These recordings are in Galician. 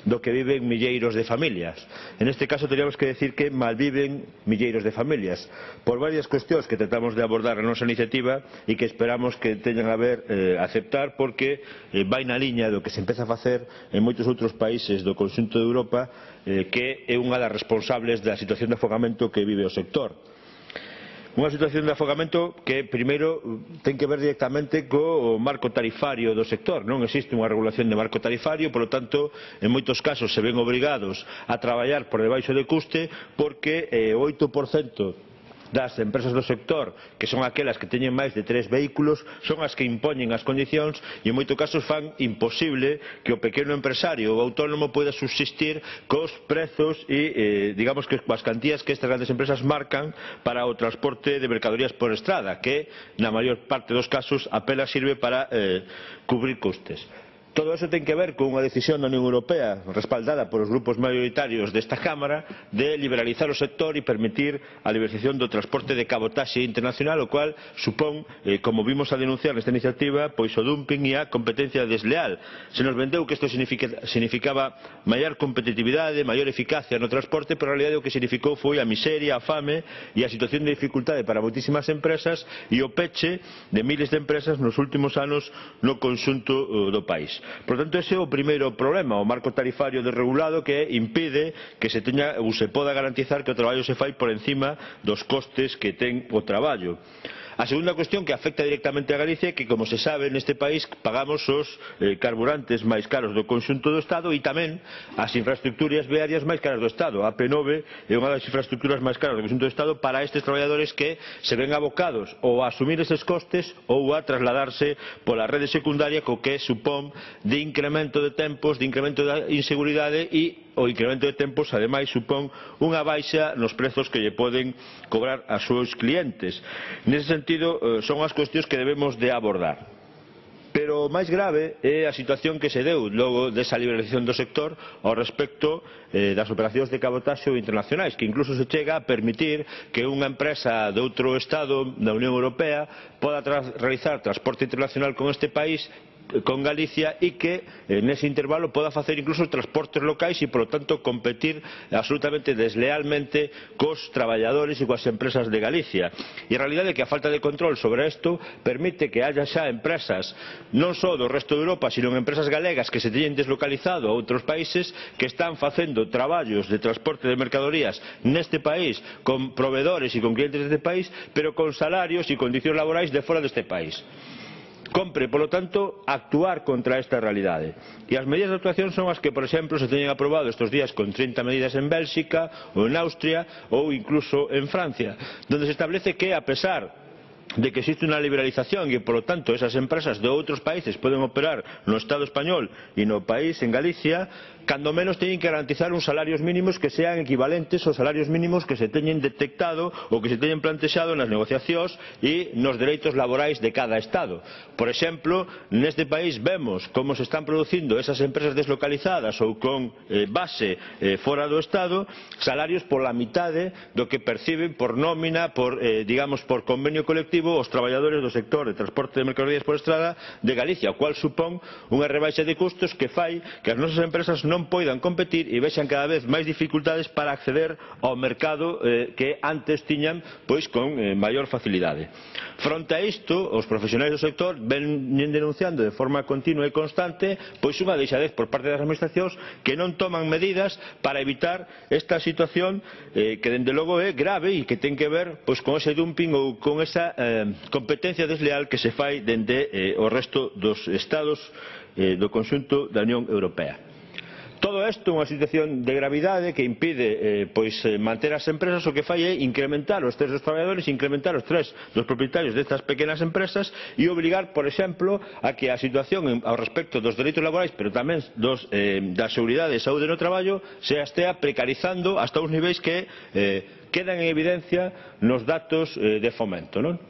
do que viven milleiros de familias. En este caso teríamos que decir que malviven milleiros de familias, por varias cuestións que tratamos de abordar na nosa iniciativa e que esperamos que teñan a ver aceptar, porque vai na liña do que se empeza a facer en moitos outros países do conxunto de Europa, que é unha das responsables da situación de afogamento que vive o sector. Unha situación de afogamento que, primeiro, ten que ver directamente co marco tarifario do sector. Non existe unha regulación de marco tarifario, polo tanto, en moitos casos se ven obrigados a traballar por debaixo de custe, porque o 8% das empresas do sector, que son aquelas que teñen máis de 3 vehículos, son as que impoñen as condicións e en moitos casos fan imposible que o pequeno empresario ou autónomo poida subsistir cos prezos e, digamos, que coas cantías que estas grandes empresas marcan para o transporte de mercadorías por estrada, que na maior parte dos casos apenas sirve para cubrir custes. Todo eso ten que ver con unha decisión da Unión Europea, respaldada polos grupos maioritarios desta Cámara, de liberalizar o sector e permitir a liberalización do transporte de cabotaxe internacional, o cual supón, como vimos a denunciar nesta iniciativa, pois o dumping e a competencia desleal. Se nos vendeu que isto significaba maior competitividade, maior eficacia no transporte, pero a realidade o que significou foi a miseria, a fame e a situación de dificultade para moitísimas empresas e o peche de miles de empresas nos últimos anos no conxunto do país. Por tanto, ese é o primeiro problema, o marco tarifario desregulado, que impide que se teña ou se poda garantizar que o traballo se fai por encima dos costes que ten o traballo. A segunda cuestión que afecta directamente a Galicia é que, como se sabe, neste país pagamos os carburantes máis caros do conxunto do Estado e tamén as infraestructuras viarias máis caras do Estado. A AP9 é unha das infraestructuras máis caras do conxunto do Estado para estes traballadores que se ven abocados ou a asumir eses costes ou a trasladarse pola rede secundaria, co que supón de incremento de tempos, de incremento da inseguridade e o incremento de tempos, ademais, supón unha baixa nos prezos que lle poden cobrar aos seus clientes. Nese sentido, son as cuestións que debemos de abordar. Pero o máis grave é a situación que se deu logo desa liberalización do sector ao respecto das operacións de cabotaxe internacionais, que incluso se chega a permitir que unha empresa de outro Estado da Unión Europea poda realizar transporte internacional con este país, con Galicia, e que nese intervalo poda facer incluso transportes locais e, polo tanto, competir absolutamente deslealmente cos traballadores e coas empresas de Galicia. E a realidade é que a falta de control sobre isto permite que haya xa empresas non só do resto de Europa, sino empresas galegas que se teñen deslocalizado a outros países, que están facendo traballos de transporte de mercadorías neste país con proveedores e con clientes deste país, pero con salarios e condicións laborais de fora deste país. Compre, polo tanto, actuar contra esta realidade. E as medidas de actuación son as que, por exemplo, se teñen aprobado estes días con 30 medidas en Bélxica ou en Austria ou incluso en Francia, donde se establece que, a pesar de que existe unha liberalización e, polo tanto, esas empresas de outros países poden operar no Estado español e no país, en Galicia, cando menos teñen que garantizar uns salarios mínimos que sean equivalentes aos salarios mínimos que se teñen detectado ou que se teñen plantexado nas negociacións e nos dereitos laborais de cada Estado. Por exemplo, neste país vemos como se están producindo esas empresas deslocalizadas ou con base fora do Estado salarios pola mitade do que perciben por nómina, por, digamos, por convenio colectivo os traballadores do sector de transporte de mercadorías por estrada de Galicia, o cual supón unha rebaixa de custos que fai que as nosas empresas non poidan competir e vexan cada vez máis dificultades para acceder ao mercado que antes tiñan pois con maior facilidade. Fronte a isto, os profesionais do sector veñen denunciando de forma continua e constante pois unha deixadez por parte das administracións que non toman medidas para evitar esta situación que dende logo é grave e que ten que ver pois con ese dumping ou con esa competencia desleal que se fai dende o resto dos Estados do conxunto da Unión Europea. Todo isto é unha situación de gravidade que impide manter as empresas. O que fai é incrementar o estrés dos traballadores, incrementar o estrés dos propietarios destas pequenas empresas e obrigar, por exemplo, a que a situación ao respecto dos dereitos laborais, pero tamén da seguridade e saúde no traballo, se estea precarizando hasta uns niveis que quedan en evidencia nos datos de Fomento, non?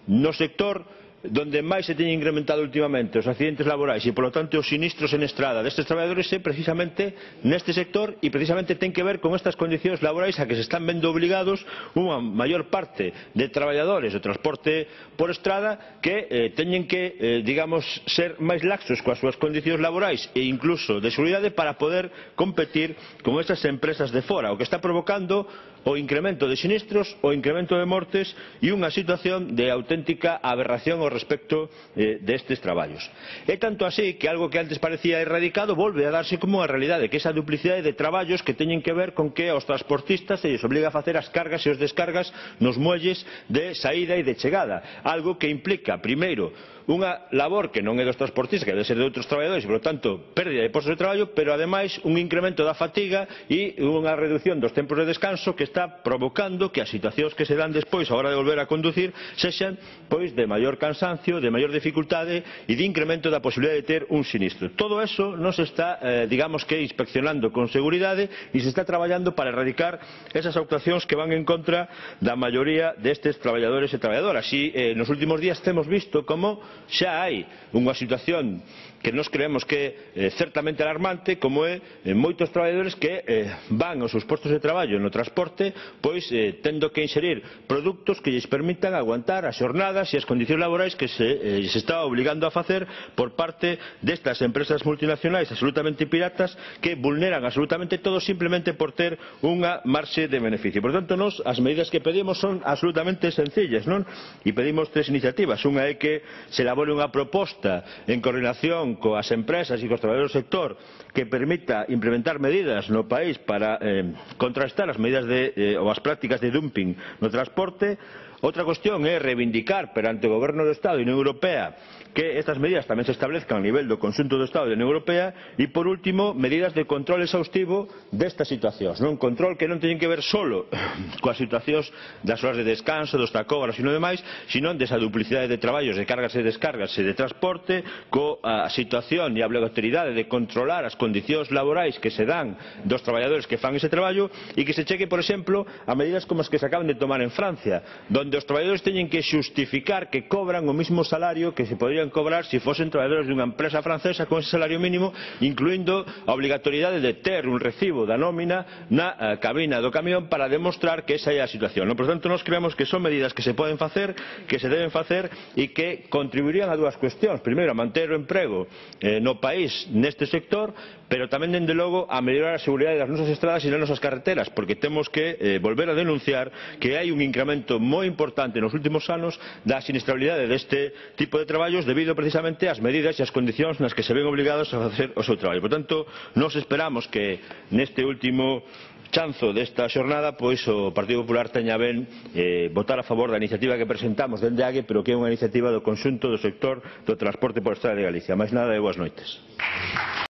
No sector donde máis se teñen incrementado últimamente os accidentes laborais e, polo tanto, os sinistros en estrada destes traballadores é precisamente neste sector e precisamente ten que ver con estas condicións laborais a que se están vendo obligados unha maior parte de traballadores do transporte por estrada que teñen que, digamos, ser máis laxos coas súas condicións laborais e incluso de seguridade para poder competir con estas empresas de fora, o que está provocando o incremento de sinistros, o incremento de mortes e unha situación de auténtica aberración ao respecto destes traballos. É tanto así que algo que antes parecía erradicado volve a darse como unha realidade, que é esa duplicidade de traballos que teñen que ver con que aos transportistas se lles obliga a facer as cargas e os descargas nos muelles de saída e de chegada, algo que implica, primeiro, unha labor que non é dos transportistas, que debe ser de outros traballadores e, por lo tanto, pérdida de postos de traballo, pero, ademais, un incremento da fatiga e unha reducción dos tempos de descanso que está provocando que as situacións que se dan despois a hora de volver a conducir sexan pois de maior cansancio, de maior dificultade e de incremento da posibilidade de ter un sinistro. Todo eso non se está, digamos que, inspeccionando con seguridade e se está traballando para erradicar esas actuacións que van en contra da maioría destes traballadores e traballadoras. E nos últimos días temos visto como xa hai unha situación que nos creemos que é certamente alarmante, como é moitos traballadores que van aos seus postos de traballo no transporte pois tendo que inserir produtos que lles permitan aguantar as xornadas e as condicións laborais que se está obligando a facer por parte destas empresas multinacionais absolutamente piratas que vulneran absolutamente todo simplemente por ter unha marxe de beneficio. Por tanto, nós as medidas que pedimos son absolutamente sencillas, non? E pedimos tres iniciativas. Unha é que se elabore unha proposta en coordinación coas empresas e cos traballadores do sector que permita implementar medidas no país para contrastar as medidas ou as prácticas de dumping no transporte. Outra cuestión é reivindicar perante o Goberno do Estado e a Unión Europea que estas medidas tamén se establezcan a nivel do conxunto do Estado e da Unión Europea. E, por último, medidas de control exhaustivo destas situacións, non control que non teñen que ver solo coas situacións das horas de descanso, dos tacógrafos e non demais, sino desa duplicidade de traballos, de cargas e descargas e de transporte, coa situación e a obrigatoriedade de controlar as condicións laborais que se dan dos traballadores que fan ese traballo e que se cheque, por exemplo, a medidas como as que se acaban de tomar en Francia, onde os traballadores teñen que xustificar que cobran o mismo salario que se podrían cobrar se fosen traballadores dunha empresa francesa con ese salario mínimo, incluindo a obrigatoriedade de ter un recibo da nómina na cabina do camión para demostrar que esa é a situación. Por tanto, nós creemos que son medidas que se poden facer, que se deben facer e que contribuirían a dúas cuestións. Primeiro, a manter o emprego no país neste sector, pero tamén, dende logo, a mellorar a seguridade das nosas estradas e das nosas carreteras, porque temos que volver a denunciar que hai un incremento moi importante nos últimos anos da sinistralidade deste tipo de traballos debido precisamente ás medidas e ás condicións nas que se ven obligados a facer o seu traballo. Por tanto, nós esperamos que neste último chanzo desta xornada pois o Partido Popular teña ben votar a favor da iniciativa que presentamos dende AGE, pero que é unha iniciativa do conxunto do sector do transporte por estrada de Galicia. Máis nada e boas noites.